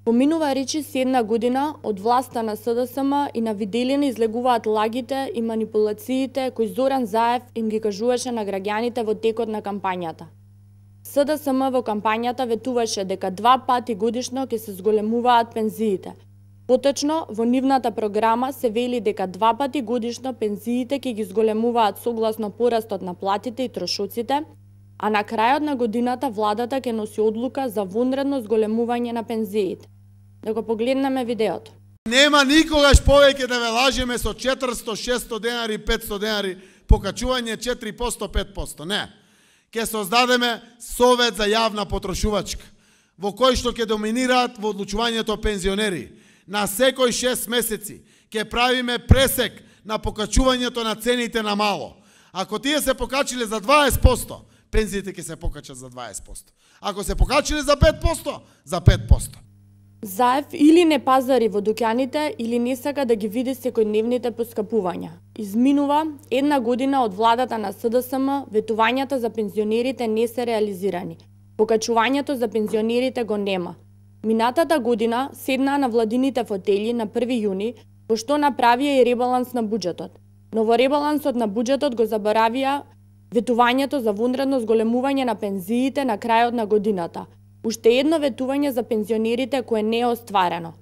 Поминува речиси една година од власта на СДСМ и на виделина излегуваат лагите и манипулациите кои Зоран Заев им ги кажуваше на граѓаните во текот на кампањата. СДСМ во кампањата ветуваше дека 2 пати годишно ќе се зголемуваат пензиите. Поточно, во нивната програма се вели дека 2 пати годишно пензиите ќе ги зголемуваат согласно порастот на платите и трошоците, а на крајот на годината владата ќе носи одлука за вонредно зголемување на пензиите. Да го погледнеме видеото. Нема никогаш повеќе да ве лажеме со 400, 600 денари, 500 денари, покачување 4%, 5%. Не. Ќе создадеме совет за јавна потрошувачка, во кој што ќе доминираат во одлучувањето пензионери. На секој 6 месеци ќе правиме пресек на покачувањето на цените на мало. Ако тие се покачиле за 20%, пензиите ќе се покачат за 20%. Ако се покачиле за 5%, за 5%. Заев или не пазари во дуќаните, или не сака да ги види секојдневните поскапувања. Изминува една година од владата на СДСМ, ветувањата за пензионерите не се реализирани. Покачувањето за пензионерите го нема. Минатата година седнаа на владините фотели на 1 јуни, пошто направија и ребаланс на буџетот. Но во ребалансот на буџетот го заборавија ветувањето за вонредно зголемување на пензиите на крајот на годината. Уште едно ветување за пензионерите кое не е остварено.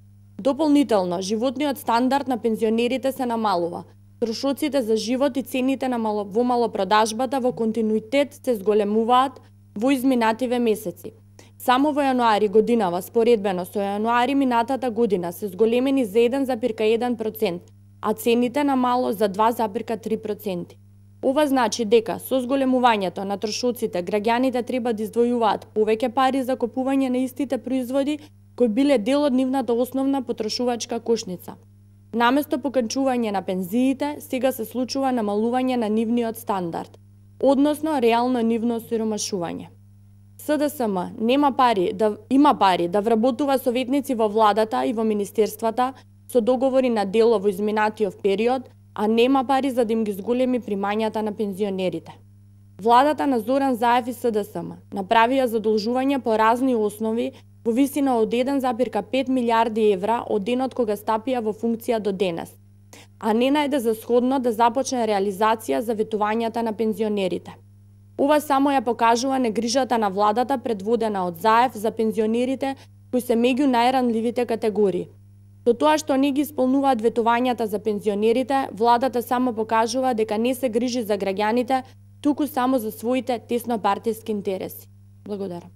Дополнително, животниот стандард на пензионерите се намалува. Трошоците за живот и цените на во малопродажбата во континуитет се зголемуваат во изминативе месеци. Само во јануари годинава, споредбено со јануари минатата година, се зголемени за 1,1%, а цените на мало за 2,3%. Ова значи дека со зголемувањето на трошоците граѓаните треба да издвојуваат повеќе пари за купување на истите производи кои биле дел од нивната основна потрошувачка кошница. Наместо покачување на пензиите, сега се случува намалување на нивниот стандард, односно реално нивно осиромашување. СДСМ има пари да вработува советници во владата и во министерствата со договори на дело во изминатиот период, а нема пари за да им ги зголеми примањата на пензионерите. Владата на Зоран Заев и СДСМ направија задолжување по разни основи во висина од 1,5 милиарди евра од денот кога стапија во функција до денес, а не најде за сходно да започне реализација за ветувањата на пензионерите. Ова само ја покажува негрижата на владата предводена од Заев за пензионерите кои се меѓу најранливите категории. Со тоа што не ги исполнуваат ветувањата за пензионерите, владата само покажува дека не се грижи за граѓаните, туку само за своите теснопартиски интереси. Благодарам.